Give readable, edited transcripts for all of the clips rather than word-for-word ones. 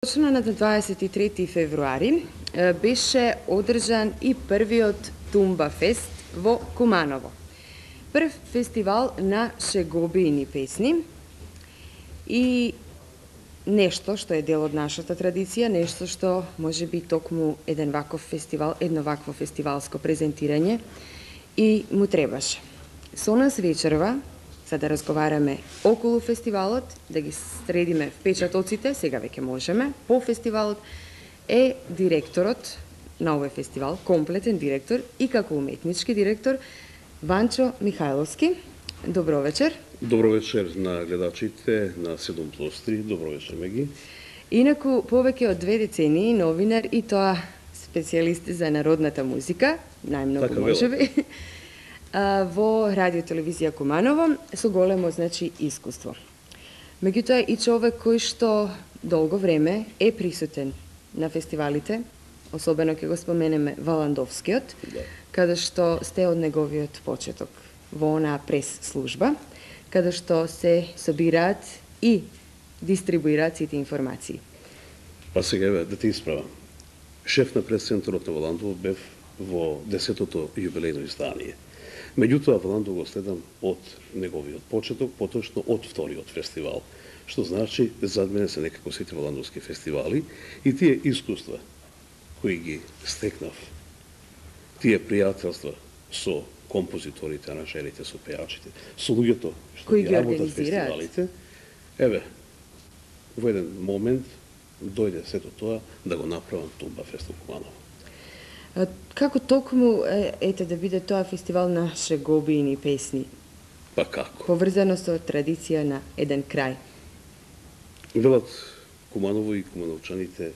Точно на 23 февруари беше одржан и првиот Тумба фест во Куманово. Прв фестивал на шегобиини песни и нешто што е дел од нашата традиција, нешто што може би токму едно вакво фестивалско презентирање и му требаше. Со нас вечерва, за да разговараме околу фестивалот, да ги средиме впечатоците, сега веќе можеме, по фестивалот, е директорот на овој фестивал, комплетен директор и како уметнички директор, Ванчо Михајловски. Добро вечер. Добро вечер на гледачите на 7+3, добро вечер, Меги. Инаку, повеќе од 2 децении новинар и тоа специјалист за народната музика, најмногу Така можеби, во радио телевизија Куманово, со големо искуство. Меѓутоа и човек кој што долго време е присутен на фестивалите, особено ќе го споменеме Валандовскиот, каде што сте од неговиот почеток во онаа прес служба, каде што се собираат и дистрибуираат сите информации. Па сега еве да те исправам. Шеф на прес-центарот на Валандово бев во 10-тото јубилејно издание. Меѓутоа, Валандово го следам од неговиот почеток, поточно од вториот фестивал, што значи зад мене се некако сите валандовски фестивали и тие искуства кои ги стекнав, тие пријателства со композиторите, аранжерите, со пејачите, со луѓето што кои ги ги работат организираат. фестивалите, еве, во еден момент дојде сето тоа да го направам Тумба фест во Куманово. Како токму ете да биде тоа фестивал на шегобиини песни, Па како? поврзано со традиција на еден крај? Велат Куманово и кумановчаните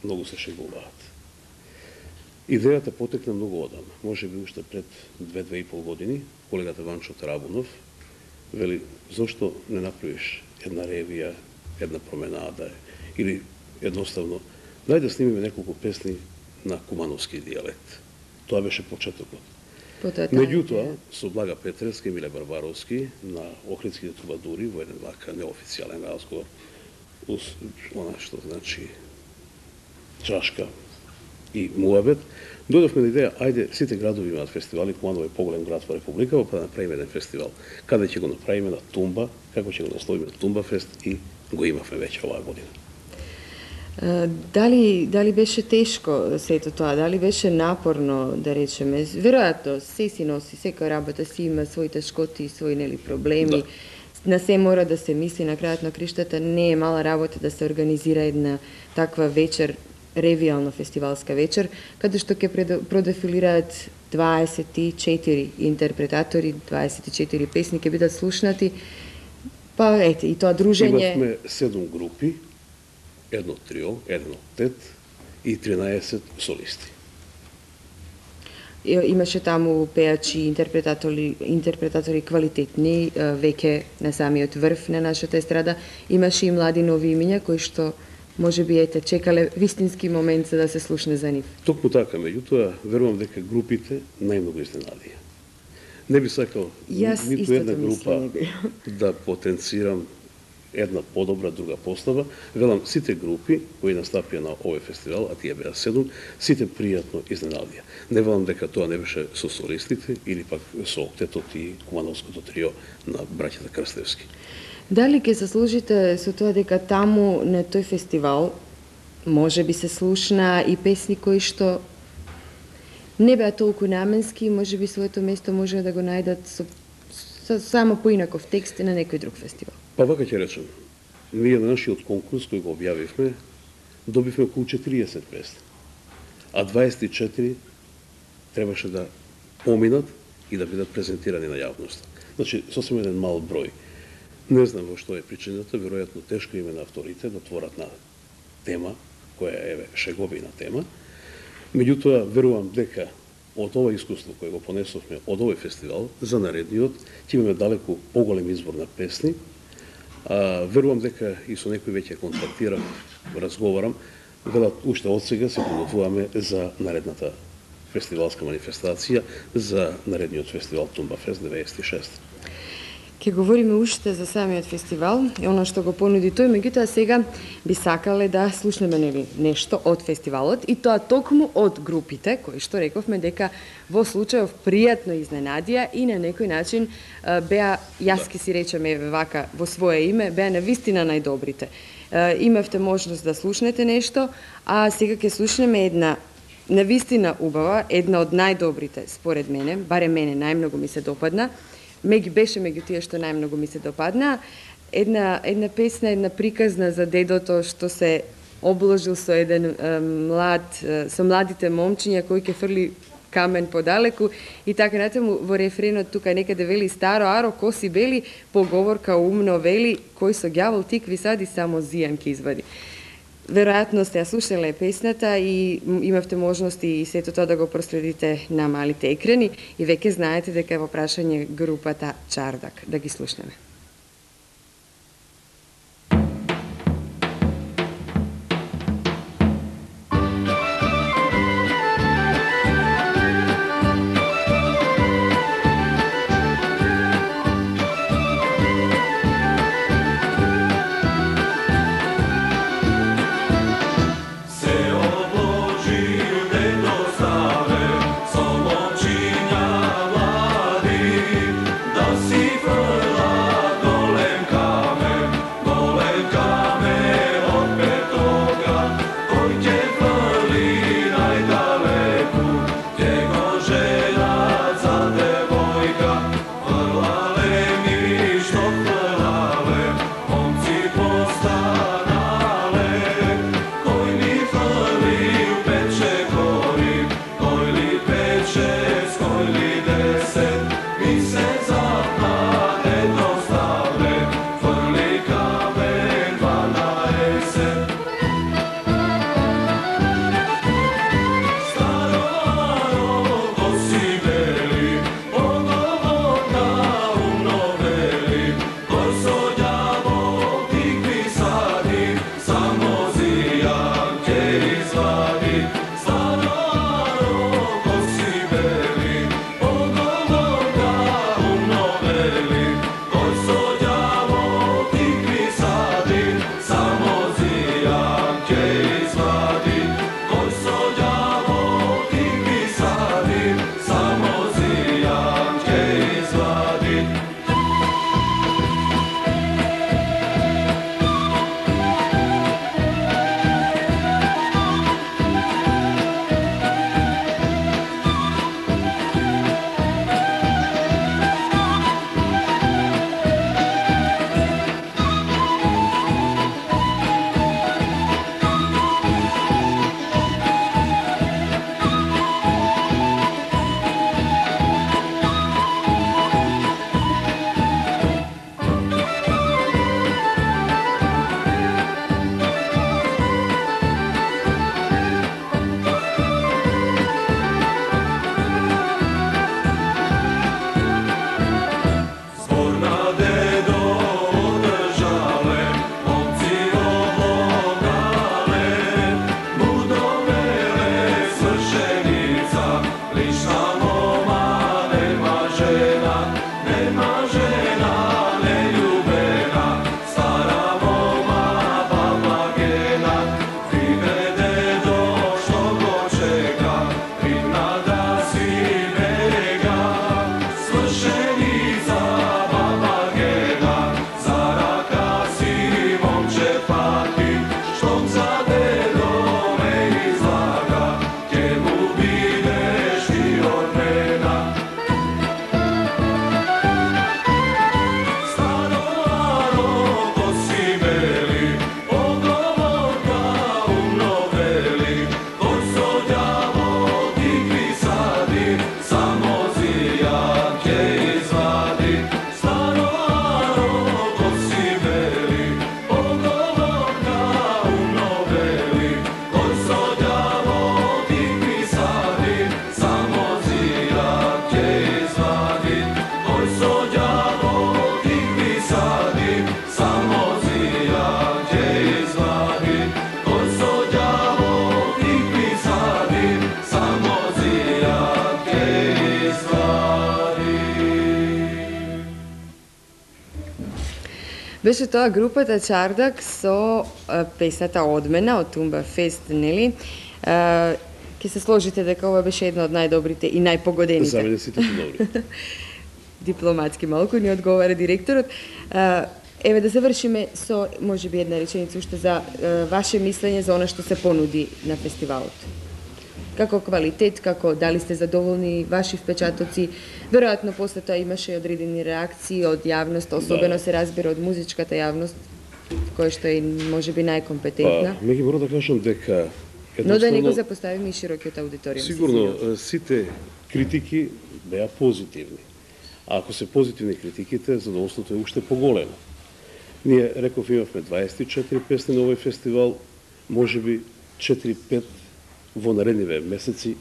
многу се шегуваат. Идејата потекна многу одамна, може би уште пред 2-2,5 години, колегата Ванчо Тарабунов вели, зошто не направиш една ревија, една променада, или едноставно, дај да снимиме неколку песни на кумановски дијалект. Тоа беше почетокот. Меѓутоа, со Блага Петревски и Миле Барбаровски на Охридските трубадури во еден вака неофицијален разговор, она што значи чашка и муабет, дојдовме на идеја, ајде, сите градови имаат фестивали, Куманово е поголем град во Републикава, па да направиме еден фестивал. Каде ќе го направиме на Тумба, како ќе го насловиме Тумба фест и го имавме веќе оваа година. Дали беше тешко сето тоа, дали беше напорно, да речеме, веројатно се си носи, секоја работа си има своји тешкоти и своји проблеми, Да. На се мора да се мисли, на крајот на криштата не е мала работа да се организира една таква вечер, ревијална фестивалска вечер, каде што ќе продефилираат 24 интерпретатори, 24 песни ќе бидат слушнати, па ете, и тоа дружење... Имавме 7 групи, едно трио, едно тет и 13 солисти. Имаше таму пеачи, интерпретатори квалитетни, веќе на самиот врв на нашата естрада. Имаше и млади нови имиња кои што може би чекале вистински момент за да се слушне за нив. Токму така, меѓутоа, верувам дека групите најмногу изненадија. Не би сакал ниту една група да потенцирам една подобра, друга постава. Велам, сите групи кои настапија на овој фестивал, а тие беа 7, сите пријатно изненадија. Не велам дека тоа не беше со солистите или пак со октетот и кумановското трио на браќата Крстевски. Дали ќе се служите со тоа дека таму на тој фестивал може би се слушна и песни кои што не беа толку наменски, може би своето место може да го најдат со само поинаков текст на некој друг фестивал? Па вака ќе речем, ние на нашиот конкурс кој го објавивме, добивме околу 40 песни, а 24 требаше да поминат и да бидат презентирани на јавноста. Значи, сосем еден мал број. Не знам во што е причината, веројатно тешко име на авторите да творат на тема, која е шегобина тема. Меѓутоа, верувам дека од ова искуство кое го понесовме од овој фестивал, за наредниот, ќе имаме далеку поголем избор на песни. Верувам дека и со некој веќе контактирам, разговарам, велат уште од сега се подготвуваме за наредната фестивалска манифестација, за наредниот фестивал Тумба фест 96. Ке говориме уште за самиот фестивал и она што го понуди тој, меѓутоа сега би сакале да слушнеме нешто од фестивалот и тоа токму од групите, кои што рековме дека во случајов пријатно изненадија и на некој начин беа, јас ке си речеме вака во свое име, беа навистина најдобрите. Имавте можност да слушнете нешто, а сега ќе слушнеме една навистина убава, една од најдобрите според мене, барем мене најмногу ми се допадна, беше меѓу тие што најмногу ми се допадна, една песна, една приказна за дедото што се обложил со еден со младите момчиња кој ќе фрли камен подалеку и така натаму во рефренот тука некаде вели старо аро коси бели, поговорка умно вели, кој со ѓавол тикви сади само зијан ќе извади. Веројатно сте ја слушале песната и имавте можности и сето тоа да го проследите на малите екрани и веќе знаете дека е во прашање групата Чардак. Да ги слушнеме. Da si vrla Беше тоа групата Чардак со песната Одмена од Тумба Фест, нели? Ке се сложите дека ова беше една од најдобрите и најпогодените. За мене сите се добри. Дипломатски малку ни одговара директорот. Еве да завршиме со можеби една реченица уште за ваше мислење за она што се понуди на фестивалот. Како квалитет, како дали сте задоволни, ваши впечатоци? Веројатно после тоа имаше одредени реакции од јавност, особено се разбира од музичката јавност, која што е можеби најкомпетентна. Меѓу мора да кажам дека Но да не го запоставиме и широкиот аудиториум. Сигурно сите критики беа позитивни. А ако се позитивни критиките, задоволството е уште поголемо. Ние, реков, имавме 24 песни на овој фестивал, можеби 4-5 во наредниве месеци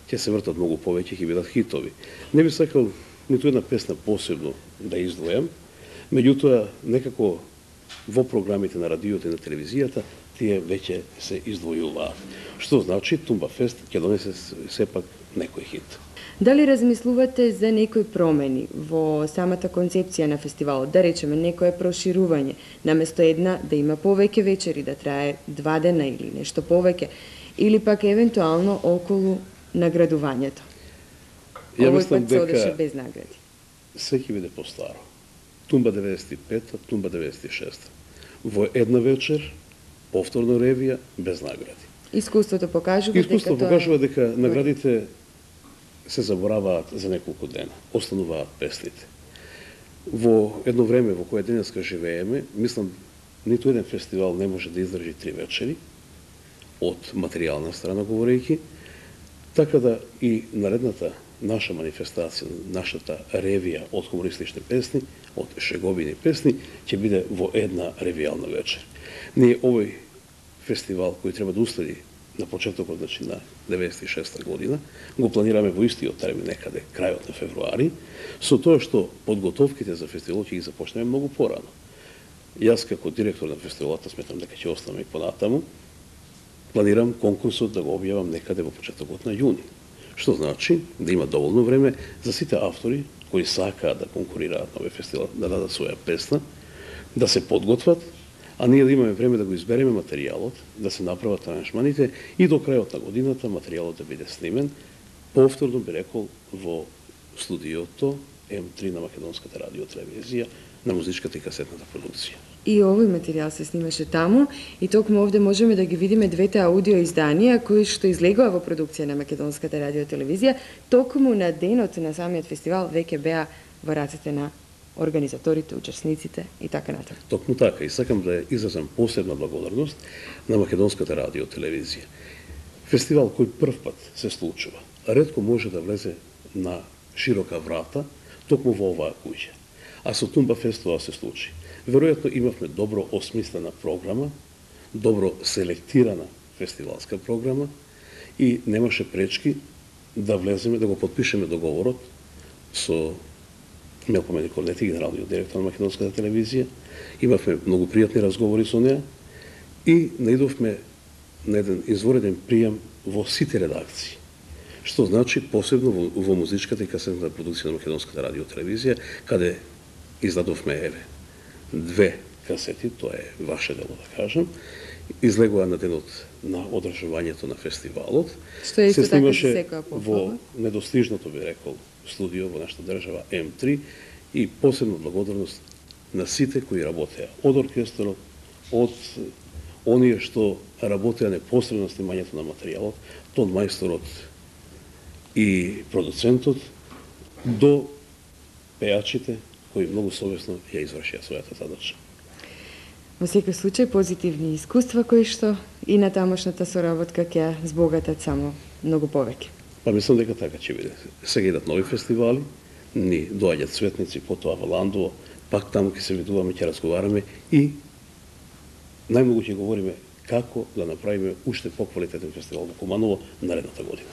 ќе се вртат многу повеќе, ќе бидат хитови. Не би сакал ниту една песна посебно да издвојам, меѓутоа некако во програмите на радиото и на телевизијата тие веќе се издвојуваат. Што значи Тумба Фест ќе донесе сепак некој хит. Дали размислувате за некои промени во самата концепција на фестивалот? Да речеме, некое проширување, наместо една да има повеќе вечери, да трае 2 дена или нешто повеќе, или пак евентуално околу наградувањето? Овој пат се одеше без награди. Се ќе биде постаро. Тумба 95-та, Тумба 96-та. Во една вечер, повторно ревија, без награди. Искуството покажува дека наградите се забораваат за неколку дена, остануваат песните. Во едно време во кое денеска живееме, мислам, ниту еден фестивал не може да издржи 3 вечери, од материјална страна говорејќи, така да и наредната наша манифестација, нашата ревија од хумористични песни, од шеговини песни, ќе биде во една ревијална вечер. Ние овој фестивал кој треба да уследи на почетокот, значи на 96-та година, го планираме во истиот термин некаде крајот на февруари, со тоа што подготовките за фестивалот ќе ги започнеме многу порано. Јас како директор на фестивалот сметам дека ќе останам и понатаму. Планирам конкурсот да го објавам некаде во почетокот на јуни. Што значи да има доволно време за сите автори кои сакаат да конкурираат на овој фестивал, да дадат своја песна, да се подготват, а ние да имаме време да го избереме материјалот, да се направат аранжманите и до крајот на годината материјалот да биде снимен, повторно би рекол во студиото М3 на Македонската радио телевизија на музичката и касетната продукција. И овој материјал се снимаше таму и токму овде можеме да ги видиме двете аудио изданија кои што излегува во продукција на Македонската радио телевизија, токму на денот на самиот фестивал веќе беа во рацете на организаторите, учесниците и така натаму. Токму така, и сакам да изразам посебна благодарност на Македонската радио телевизија. Фестивал кој прв пат се случува, ретко може да влезе на широка врата токму во оваа куќа. А со Тумба Фест тоа се случи. Веројатно имавме добро осмислена програма, добро селектирана фестивалска програма и немаше пречки да влеземе, да го подпишеме договорот со Мелко Корнети, генералниот директор на Македонската телевизија. Имавме многу пријатни разговори со неа и наидовме на еден извореден пријам во сите редакции. Што значи посебно во музичката и касетната продукција на Македонската радио телевизија, каде издадовме 2 касети, тоа е ваше дело да кажам, излегува на денот на одржувањето на фестивалот. Што е исто така се секоја во недостижното, би рекол, студио во нашата држава М3 и посебно благодарност на сите кои работеа, од оркестрот, од оние што работеа непосредно на снимањето на материјалот, тон мајсторот и продуцентот, до пејачите кои многу совесно ја извршија својата задача. Во секој случај позитивни искуства кои што и на тамошната соработка ќе збогатат само многу повеќе. Па мислам дека така ќе биде. Сега идат нови фестивали, ни доаѓаат светници, потоа во Ландово, пак таму ќе се видуваме, ќе разговараме и најмногу ќе говориме како да направиме уште поквалитетен фестивал во Куманово наредната година.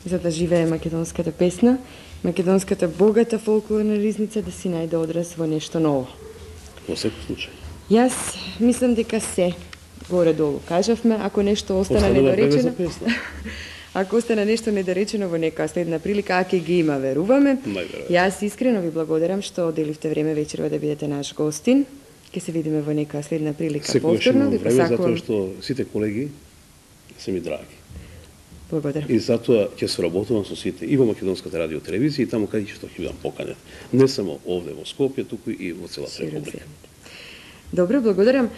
За да живее македонската песна, македонската богата фолклорна ризница да си најде одраз во нешто ново. Во секој случај. Јас мислам дека се горе-долу кажавме, ако нешто остана недоречено. Ако остана нешто недоречено во некоја следна прилика, а ќе ги има, веруваме. Јас искрено ви благодарам што отделивте време вечерва да бидете наш гостин. Ќе се видиме во некоја следна прилика Секогаш повторно. имам Ви време, затоа посакувам. што сите колеги се ми драги. Благодарам. И затоа ќе соработувам со сите и во Македонската радио телевизија и таму каде што ќе бидам поканет. Не само овде во Скопје, туку и во целата Широк република. земјата. Добро, благодарам.